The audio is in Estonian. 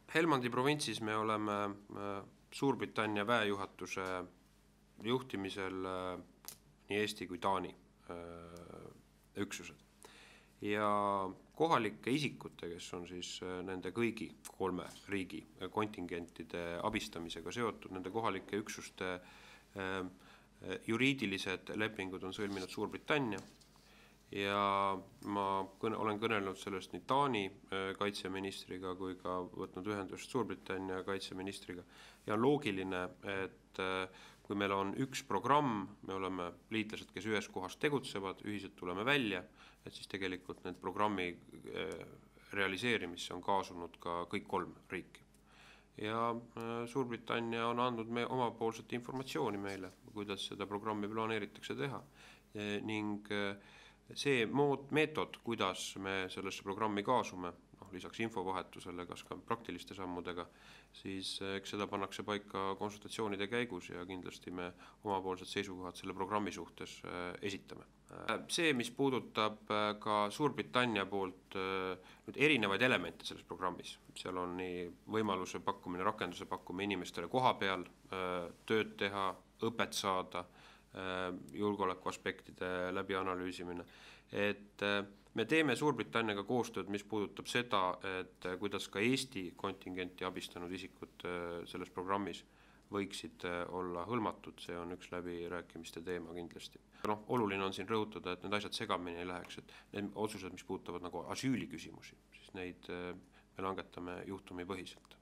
Helmandi provintsis me oleme Suurbritannia väejuhatuse juhtimisel nii Eesti kui Taani üksused. Ja kohalike isikute, kes on siis nende kõigi kolme riigi kontingentide abistamisega seotud, nende kohalike üksuste juriidilised lepingud on sõlminud Suurbritannia. Ja ma olen kõnelenud sellest nii Taani kaitseministriga kui ka võtnud ühendust Suurbritannia kaitseministriga. Ja on loogiline, et kui meil on üks programm, me oleme liitlased, kes ühes kohas tegutsevad, ühiselt tuleme välja, et siis tegelikult need programmi realiseerimisse on kaasunud ka kõik kolm riiki. Ja Suurbritannia on andnud omapoolset informatsiooni meile, kuidas seda programmi planeeritakse teha. Ning see meetod, kuidas me sellesse programmi kaasume, lisaks infovahetusele, kas ka praktiliste sammudega, siis eks seda pannakse paika konsultatsioonide käigus ja kindlasti me omapoolsed seisukohad selle programmi suhtes esitame. See, mis puudutab ka Suurbritannia poolt nüüd erinevaid elemente selles programmis, seal on nii võimaluse pakkumine, rakenduse pakkumine inimestele koha peal, tööd teha, õpet saada, julgeoleku aspektide läbi analüüsimine, et me teeme Suurbritanniaga koostööd, mis puudutab seda, et kuidas ka Eesti kontingenti abistanud isikud selles programmis võiksid olla hõlmatud, see on üks läbirääkimiste teema kindlasti. Oluline on siin rõhutada, et need asjad segamini ei läheks, et need otsused, mis puudutavad nagu asüüli küsimusi, siis neid me langetame juhtumipõhiselt.